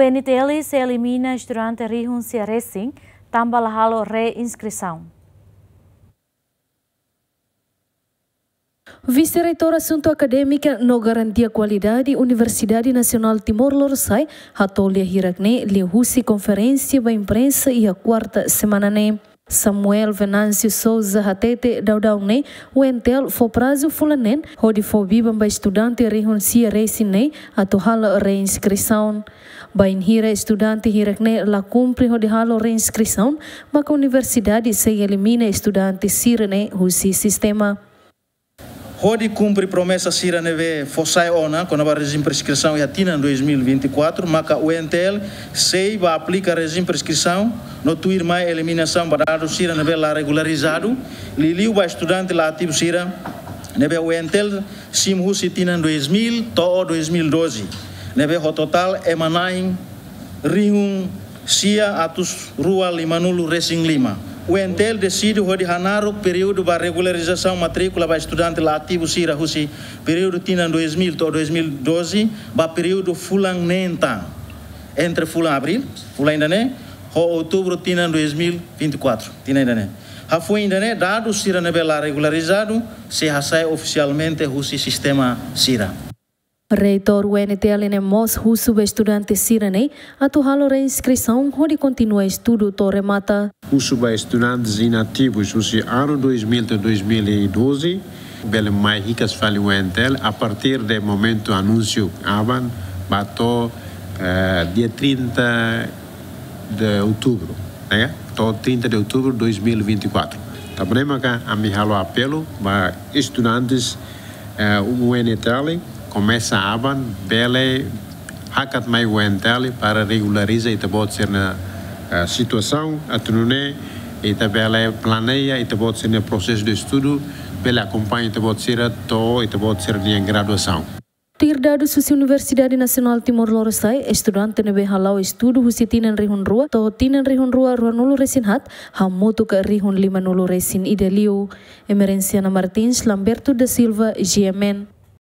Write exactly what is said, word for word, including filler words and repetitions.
N T L sei elimina estudante rihun sia resin, tanba la halo reinskrisaun. Vise-Reitór Asuntu Akadémika no Garantia Kualidade Universidade Nasionál Timor Lorosa'e hato'o lia hirak ne'e liuhusi konferénsia ba imprensa iha kuarta semana ne'e. Samuel Venâncio Sousa hatete daudaun ne'e UNTL fó prazu fulan neen hodi fó biban ba estudante rihun sia resin ne'e atu halo reinskrisaun. Bainhira estudante hirak ne'e la kumpre hodi halo reinskrisaun, maka universidade sei elimina estudante sira-ne'e husi sistema. Hodi kumpre promesa sira ne'ebé fó sai ona kona-ba rejime preinskrisaun iha tinan dois mil e vinte e quatro, maka UNTL sei ba aplika rejime preinskrisaun no tuirmai eliminasaun ba dadus sira ne'ebé la regularizadu, liuliu ba estudante la ativu sira ne'ebé UNTL simu husi tinan dois mil to'o dois mil e doze, ne'ebé ho totál ema na'in rihun sia atus rua limanulu resin lima. UNTL deside hodi hanaruk períodu ba regularizasaun matríkula ba estudante la ativu sira husi períodu tinan dois mil to'o dois mil e doze ba períodu fulan neen tan, entre fulan abríl, fulan ida-ne'e, ho outubru tinan dois mil e vinte e quatro, tinan ida-ne'e. Hafoin ida-ne'e, dadus sira ne'ebé la regularizadu sei hasai ofisialmente husi sistema sira. Reitór UNTL ne'e mós husu ba estudante sira-ne'e atu halo reinskrisaun hodi kontinua estudu to'o remata. Husu ba estudantes inativus husi anu dois mil to'o dois mil e doze, bele mai hikas fali UNTL a partir de momentu anúnsiu aban ba to'o, eh, dia trinta de outubro, ne'e? To'o trinta de outubro de dois mil e vinte e quatro. Tanba ne'e maka ami halo apelu ba estudantes, eh, UNTL, komesa aban, bele hakat mai UNTL para regulariza ita-boot sira-nia, eh, situasaun, atu nune'e ita bele planeia ita-boot sira-nia prosesu de estudu, bele akompaña ita-boot sira to'o ita-boot sira-nia graduasaun. Tuir dadus husi Universidade Nasionál Timor Lorosa'e, estudante ne'ebé hala'o estudu husi tinan rihun rua to'o tinan rihun rua ruanulu resin haat, hamutuk rihun limanulu resin ida liu. Emerenciana Martins, Lamberto da Silva, G M N.